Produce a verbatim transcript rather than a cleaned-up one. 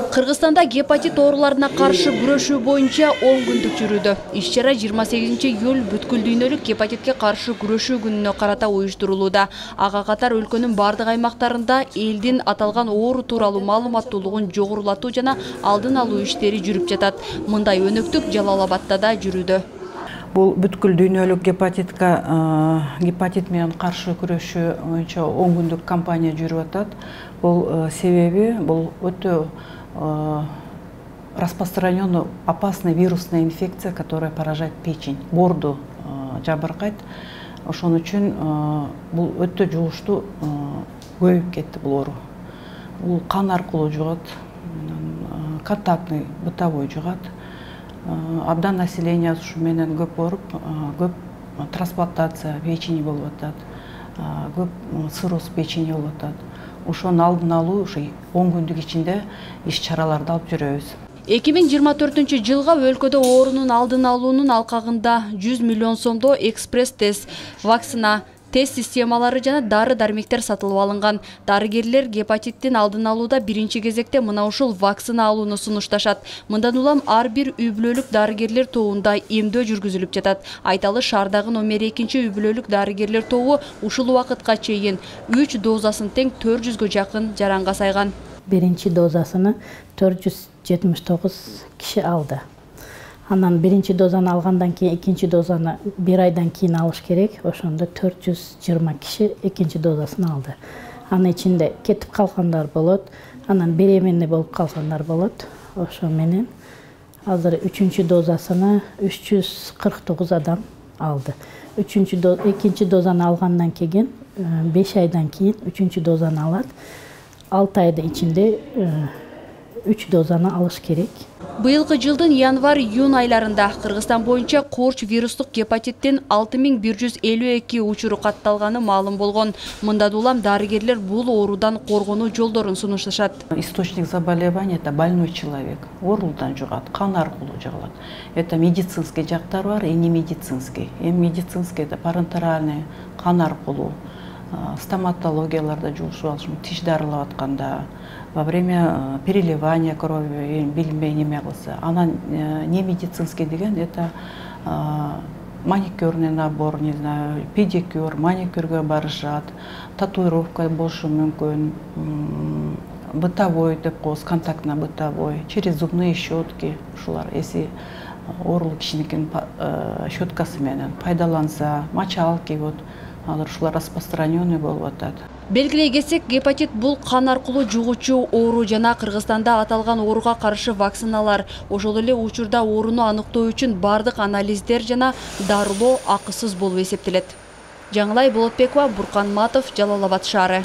Кыргызстанда гепатит ооруларына каршы күрөшүү боюнча он күндүк жүрүүдө. Иш-чара жыйырма сегизинчи июль бүткүл дүйнөлүк гепатитке каршы күрөшүү күнүнө карата уюштурулууда. Ага катар өлкөнүн бардык аймактарында элдин аталган оору тууралуу маалыматтуулугун жогорулатуу жана алдын алуу иштери жүрүп жатат. Мындай өнөктүк Жалал Абадта да жүрүүдө. Бул бүткүл дүйнөлүк гепатитке гепатит менен каршы күрөшүү боюнча он күндүк кампания жүрүп атат. Бул себеби бул өтө распространенный опасная вирусная инфекция, которая поражает печень, боорду жабыркайт. Ошон үчүн бул өтө жугуштуу көбөйүп кетти бул оору. Бул кан аркылуу жугат, контактный, бытовой жугат. Абдан население ушу менен көп ооруп, көп трансплантация печени болуп атат, көп цирроз печени болуп атат. Ошонун алдын алуу ушу он күндүк ичинде иш-чараларды алып жүрөбүз. эки миң жыйырма төртүнчү жылга өлкөдө оорунун алдын алуунун алкагында жүз миллион сомдо экспресс тест, вакцина, тест системалары жана дары-дармектер сатылып алынган. Дарыгерлер гепатиттин алдын алууда биринчи кезекте мына ушул вакцина алууну сунушташат. Мындан улам ар бир үй бүлөлүк дарыгерлер тобунда эмдөө жүргүзүлүп жатат. Айталы, шаардагы номер экинчи үй бүлөлүк дарыгерлер тобу ушул убакытка чейин үч дозасын тең төрт жүзгө жакын жаранга сайган. Биринчи дозасыны төрт жүз жетимиш тогуз киши алды. Анан биринчи дозаны алгандан кийин экинчи дозаны бир айдан кийин алыш керек. Ошондо төрт жүз жыйырма киши экинчи дозасын алды. Анын ичинде кетип калгандар болот, анан беременный болуп калгандар болот. Ошо менен азыр үчүнчү дозасыны үч жүз кырк тогуз адам алды. Үчүнчү доз, экинчи дозаны алгандан кийин беш айдан кийин үчүнчү дозаны алат. алты айдын ичинде үч дозаны алыш керек. Быйылкы жылдын январь-июнь айларында Кыргызстан боюнча корч вирустук гепатиттин алты миң бир жүз элүү эки учуру катталганы маалым болгон. Мындан улам дарыгерлер бул оорудан коргонуу жолдорун сунушташат. Источник заболевания — это больной человек. Оорудан жугат, кан аркылуу жугат. Это медицинский жактар бар, и не медицинский. Эми медицинский — это парентеральный, кан аркылуу. Стоматологияларда жугушуп алышы, тиш дарылап атканда, во время переливания крови билинбей неме кылса. Анан не медицинский деген — это маникюрный набор, не знаю, педикюр, маникюргө барышат, татуировка болушу мүмкүн, бытовой деп коебуз, контактно бытовой, через зубные щетки. Ушулар эси оорулуу кишиникин щеткасы менен пайдаланса, мочалки, вот алар ушулар распространенный болуп атат. Белгилей кетсек, гепатит бул кан аркылуу жугуучу оору жана Кыргызстанда аталган ооруга каршы вакциналар, ошол эле учурда ооруну аныктоо үчүн бардык анализдер жана дарылоо акысыз болуп эсептелет. Жаңылай Болотбекова, Буркан Матов, Жалал Абад шаары.